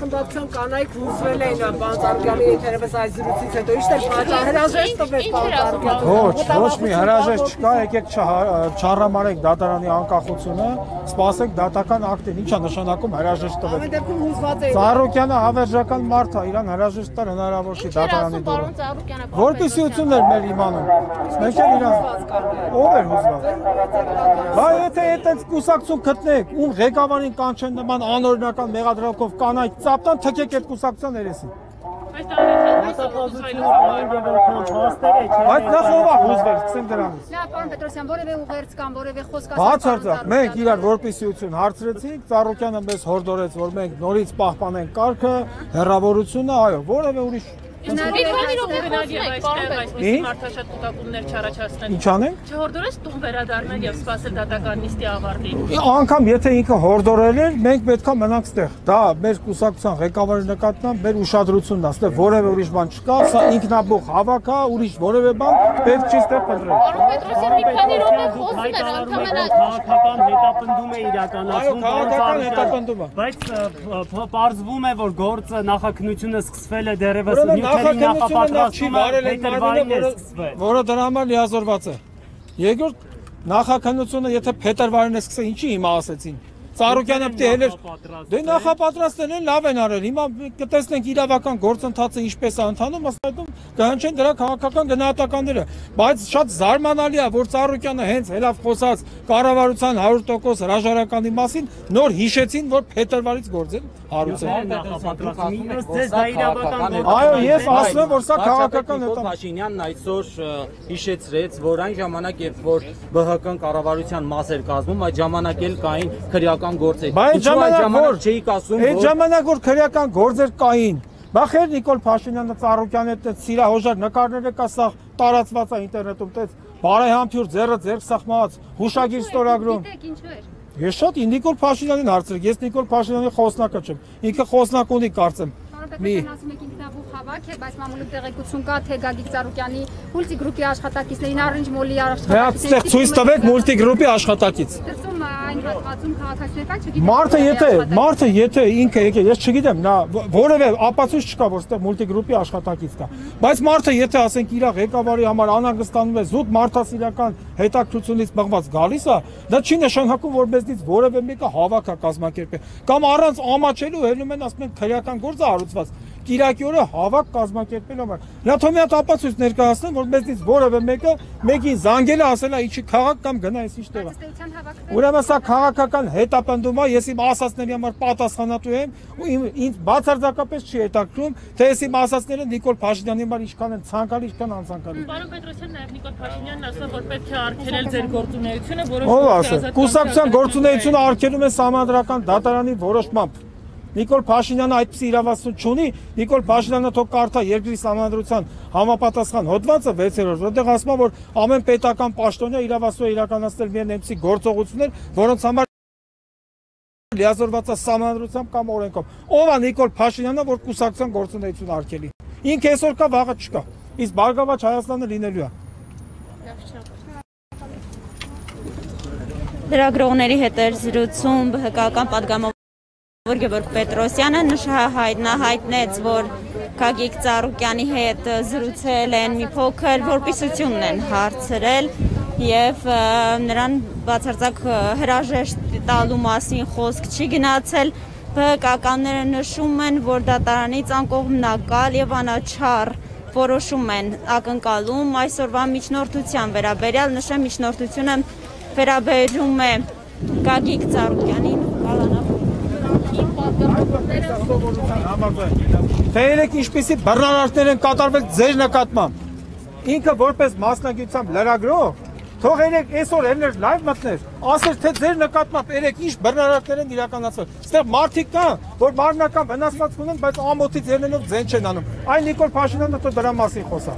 խմբակցության կանայք հուսվել էին Պանծառուկյանի երևս այս զրույցից հետո ի՞նչ էր պատճառը հրաժեշտ տվեց Պանծառուկյանը։ Ոչ մի հրաժեշտ չկա, եկեք չառամարեք դատարանի անկախությունը, սպասեք դատական ակտին, ի՞նչ է նշանակում հրաժեշտ տվեց։ Ամեն դեպքում հուզված է։ Ծառուկյանը հավերժական մարդ է, իրան հրաժեշտ տալ հնարավոր չի դատարանի դուրս։ Որպեսզի ություններ մեր իմանում։ Մենք էլ իրան ով էր հուզված։ Բա եթե այդպես կուսակցություն գտնեք, ում ղեկավարին կանչեն նման անօրինական մեղադրանքով կանայք ծապտան, թքեք այդ կուսակցության երեսին։ Այդ նախ ով է հուզվել, սկսենք դրանից։ Լավ, պարոն Պետրոսյան, որևէ ուղերձ կամ որևէ խոսք Բացարձակ, մենք իրար որպեսիություն հարցրեցինք, Ծառուկյանը մեզ հորդորեց, որ մենք նորից պահպանենք կարգը, հեռավորությունը, այո, որևէ ուրիշ Ինչ անենք։ Չհորդորես տուն վերադառնել եւ սպասել դատական նիստի ավարտին։ Անգամ եթե ինքը հորդորել էր, մենք պետք է մնանք ստեղ։ Դա մեր կուսակցության ղեկավարի նկատմամբ մեր ուշադրությունն է, ստեղ որևէ ուրիշ բան չկա, սա ինքնաբուխ հավաք է, ուրիշ որևէ բան պետք չի ստեղ փնտրել։ Քաղաքական հետապնդում է իրականացվում, քաղաքական հետապնդումը։ Բայց պարզվում է, որ գործը նախաքննությունը սկսվել է դեռևս որը դրա համար լիազորված է։ Երկրորդ նախաքննությունը եթե փետրվարին է սկսել, ինչի հիմա ասեցին։ Ծառուկյանը պետք է հելեր դե նախապատրաստել են, լավ են արել։ Հիմա կտեսնենք իրավական գործընթացը ինչպես է ընթանում, ըստ այդմ կհնչեն դրա քաղաքական գնահատականները։ Բայց շատ զարմանալի է, որ Ծառուկյանը հենց հելավ խոսած կառավարության 100% հրաժարականի մասին նոր հիշեցին, որ փետրվարից գործեն հարուցել։ Այո, ես ասում եմ, որ սա քաղաքական է։ Փաշինյանն այսօր հիշեցրեց, որ այն ժամանակ, երբ որ ԲՀԿ-ն կառավարության մաս էր կազմում, այդ ժամանակ էլ կային քրեական գործեր։ Այդ ժամանակ որ քրեական գործեր կային, բախեր Նիկոլ Փաշինյանը Ծառուկյանի հետ սիրահոժար նկարները կա, սա տարածված է ինտերնետում, տես բարեհամբույր ձեռը ձեռք սախմած, հուշագիր ստորագրում։ Ես շատ Նիկոլ Փաշինյանին հարցրեք, ես Նիկոլ Փաշինյանի խոսնակը չեմ, ինքը խոսնակ ունի կարծեմ։ Ասում եք ինքնաբուխ հավաք է, բայց մամուլի տեղեկություն կա, թե Գագիկ Ծառուկյանի մուլտիգրուպի աշխատակիցներին, Orange Mall-ի աշխատակիցներին։ Ցույց տվեք մուլտիգրուպի աշխատակից։ Դրսում այն հատվածում քաղաքացիներ կան, չգիտեմ։ Մարդը եթե ինքը եկել, ես չգիտեմ, նա որևէ ապացույց չկա, որ այդտեղ մուլտիգրուպի աշխատակից կա։ Բայց մարդը եթե ասենք իր ղեկավարի համար անհանգստանում է, զուտ մարդասիրական հետաքրությունից բղված գալիս է, դա չի նշանակում, որ մեզնից որևէ մեկը հավաք է կազմակերպել։ Կամ առանց ամաչելու հելնում են, ասում են քրեական գործ է հարուցված։ Կիրակի օրը հավաք կազմակերպել համար։ Նա թող մի հատ ապացույց ներկայացնեն, որ մեզնից որևէ մեկը մեկին զանգել է, ասել է ինչի քաղաք կամ գնա այս ինչ տեղ։ Ուրեմն սա քաղաքական հետապնդում է, ես իմ ասածների համար պատասխանատու եմ ու ինձ բացարձակապես չի հետաքրքրում, թե ես իմ ասածները Նիկոլ Փաշինյանի համար ինչքան են ցանկալի, ինչքան անցանկալի։ Պարոն Պետրոսյան, նաև Նիկոլ Փաշինյանն ասում որ պետք է արգելել ձեր գործունեությունը, որոշ կուսակցության գործունեությունը արգելում է Սահմանադրական դատարանի որոշմամբ։ Նիկոլ Փաշինյանը այդպիսի իրավասություն չունի, Նիկոլ Փաշինյանը թող կարդա երկրի Սահմանադրության համապատասխան հոդվածը 6-րդ, որտեղ ասում է, որ ամեն պետական պաշտոնյա իրավասու է իրականացնել միայն այնպիսի գործողություններ, որոնց համար լիազորված է Սահմանադրությամբ կամ օրենքով։ Ով է Նիկոլ Փաշինյանը, որ կուսակցության գործունեություն արգելի։ Ինքը այսօր կա, վաղը չկա։ Իսկ Բարգավաճ Հայաստանը լինելու է։ Լրագրողների հետ էր զրուցում ԲՀԿ-ական պատգամավոր Գևորգ Պետրոսյանը հայտնեց, որ Գագիկ Ծառուկյանի հետ զրուցել են մի փոքր, որպիսությունն են հարցրել եւ նրան բացարձակ հրաժեշտ տալու մասին խոսք չի գնացել։ ԲՀԿ-ականները նշում են, որ դատարանից անկողմնակալ եւ անաչառ որոշում են ակնկալում այսօրվա միջնորդության վերաբերյալ, նշեմ միջնորդությունը վերաբերում է Գագիկ Ծառուկյանին Թե երեք ինչպիսի բռնարարքներ են կատարվել ձեր նկատմամբ։ Ինքը որպես մասնագիտությամբ լրագրող, թող երեք այսօր ելներ լայվ մտներ, ասեր թե ձեր նկատմամբ երեք ինչ բռնարարքներ են իրականացվել։ Այստեղ մարդիկ կան, որ մարմնական վնասված ունեն, բայց ամոթից ելնելով ձեն չեն անում։ Այն Նիկոլ Փաշինյանը դրա մասին խոսա։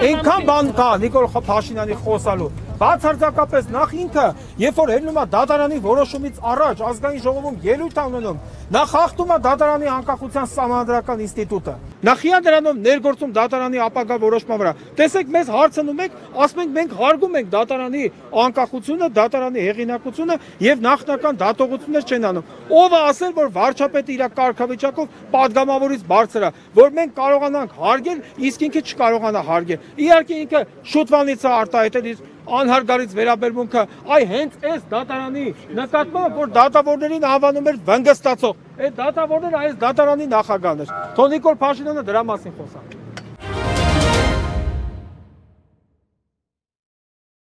Այնքան բան կա Նիկոլ Փաշինյանի խոսալու։ Բացարձակապես նախ ինքը, երբ որ ելնում է դատարանի որոշումից առաջ ազգային ժողովում ելույթ ունենում, նա խախտում է դատարանի անկախության սահմանադրական ինստիտուտը։ Նախիան դրանով ներգործում դատարանի ապագա որոշման վրա։ Տեսեք, մեզ հարցնում եք, ասում ենք մենք հարգում ենք դատարանի անկախությունը, դատարանի հեղինակությունը եւ նախնական դատողություններ չեն անում։ Ով է ասել, որ վարչապետը իր կարգավիճակով падգամավորից բարձր է, որ մենք կարողանանք հարգել, իսկ ինքը չկարողանա հարգել։ Իհարկե ինքը շուտվանից է արտահայտել իր անհարգալից վերաբերմունքը այ հենց այս դատարանի նկատմամբ, որ դատավորներին անվանում էր վնգստացող։ Այդ դատավորները այս դատարանի նախագահն էր։ Թող Նիկոլ Փաշինյանը դրա մասին խոսա։